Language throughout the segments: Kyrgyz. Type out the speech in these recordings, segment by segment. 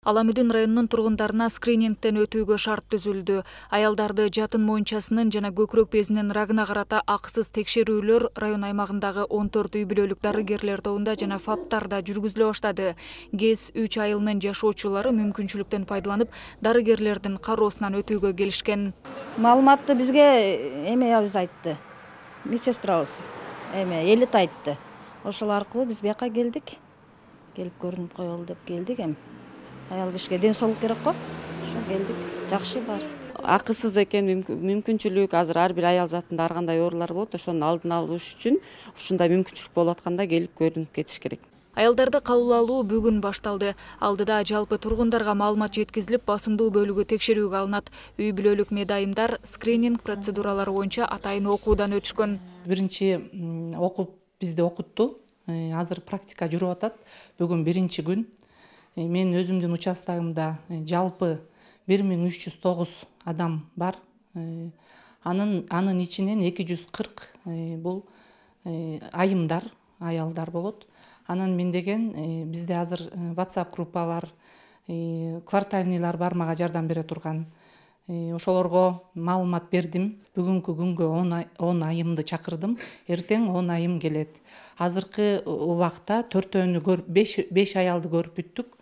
Аламүдүн районунун тургундарына скринингден өтүүгө шарт түзүлдү. Аялдарды жатын моюнчасынын жана көкүрөк безинин рагына карата акысыз текшерүүлөр район аймагындагы 14 үй бүлөлүк дарыгерлер тобунда жана ФАПтарда жүргүзүлө баштады. ГЭС 3 айылынын жашоочулары мүмкүнчүлүктөн пайдаланып, дарыгерлердин кароосунан өтүүгө келишкен. Маалыматты бизге аябыз айтты. Медсестрабыз элит айтты. Ошол аркылуу биз бияка келдик. Келип көрүнүп коелу деп келдик. Аял кишиге ден соолук керек го. Ошо келдик. Жакшы бар. Акысыз экен, мүмкүнчүлүк азыр ар бир аял затында ар кандай оорулар болот, ошонун алдын алыш үчүн ушундай мүмкүнчүлүк болуп атканда келип көрүнүп кетиш керек. Аялдарды кабыл алуу бүгүн башталды. Алдыда жалпы тургундарга маалымат жеткизилип, басымдуу бөлүгү текшерүүгө алынат. Үй бүлөлүк медайымдар скрининг процедуралары боюнча атайын окуудан өтүшкөн. Биринчи окуп бизди окутту. Азыр практика жүрүп атат. Бүгүн биринчи күн. Мен өзүмдүн участогумда жалпы 1309 адам бар. Анын ичинен 240 бул айымдар, аялдар болот. Анан мен деген бизде азыр WhatsApp группа бар, квартальныйлар бар мага жардам бере турган. Ошолорго маалымат бердим. Бүгүнкү күнгө 10 айымды чакырдым. Эртең 10 айым келет. Азыркы убакта 5 аялды көрүп бүттүк.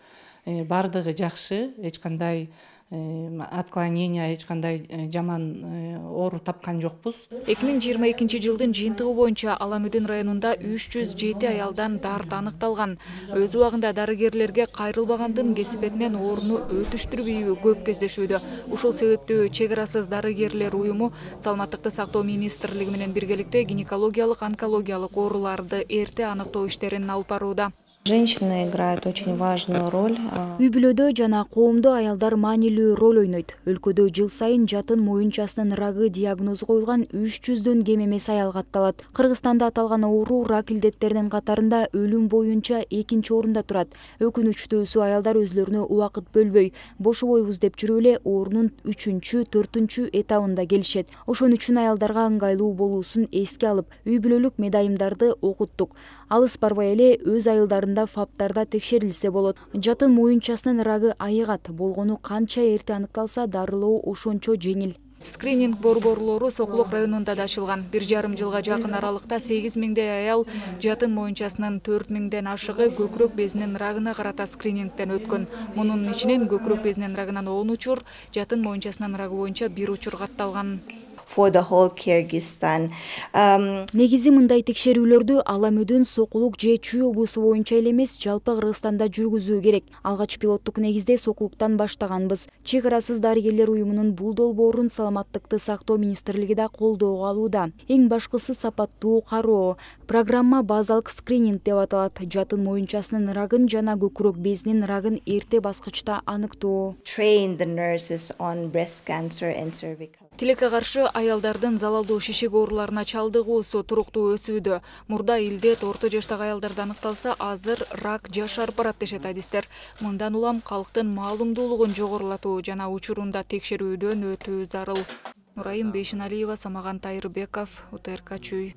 Бардыгы жакшы, эч кандай отклонение, эч кандай жаман оору тапкан жокпуз. 2022 жылдын жыйынтыгы боюнча Аламүдүн районунда 307 аялдан дарт аныкталган. Өз убагында дарыгерлерге кайрылбагандын кесипетинен орну өтүштүрбүйү көп кездешүүдө. Ушул себептүү чек арасыз дарыгерлер уюму Саламаттыкты сактоо министрлиги менен биргеликте гинекологиялык, онкологиялык ооруларды эрте аныктоо иштерин алып барууда. Женщины играют очень важную роль. Үй бүлөдө жана коомдо аялдар маанилүү роль ойнойт. Өлкөдө жыл сайын жатын моюнчасынын рагы диагнозу коюлган 300дөн кем эмес аял катталат. Кыргызстанда аталган оору рак илдеттеринин катарында өлүм боюнча 2-нчи орунда турат. Өкүнүчтүүсү аялдар өзлөрүнө убакыт бөлбөй, бошобойбуз деп жүрүп эле оорунун 3-чү, 4-чү этабында келишет. Ошон үчүн аялдарга ыңгайлуу болуусун эске алып, үй бүлөлүк медайымдарды окуттук. Алыс барбай эле өз айылдарында ФАПтарда текшерилсе болот. Жатын моюнчасынын рагы айыгат, болгону канча эрте аныкталса дарылоо ошончо жеңил. Скрининг борборлору Сокулук районунда да ачылган. 1,5 жылга жакын аралыкта 8000дей аял жатын моюнчасынын 4000ден ашыгы көкүрөк безинин рагына карата скринингден өткөн. Мунун ичинен көкүрөк безинин рагынан 10 учур, жатын моюнчасынын рагы боюнча 1 учур катталган. For the whole Kyrgyzstan. Негизи мындай текшерүүлөрдү Аламүдүн, Сокулук же Чүй облусу боюнча эле эмес, жалпы Кыргызстанда жүргүзүү керек. Алгач пилоттук негизде Сокулуктан баштаганбыз. Чек арасыз дарыгерлер уюмунун бул долбоорун Саламаттыкты сактоо министрлиги да колдоого алууда. Эң башкысы сапаттуу кароо. Программа базалык скрининг деп аталат. Жатын моюнчасынын рагын жана көкүрөк безинин рагын эрте баскычта аныктоо. Train the nurses on breast cancer and cervical. Тилекке каршы аялдардын залалдуу шишик ооруларына чалдыгуусу туруктуу өсүүдө. Мурда илдет орто жаштагы аялдарда аныкталса, азыр рак жашарып барат дешет адистер. Мындан улам калктын маалымдуулугун жогорулатуу жана учурунда текшерүүдөн өтүү зарыл. Нурайым Бейшеналиева, Самаган Тайырбеков, УТРК Чүй.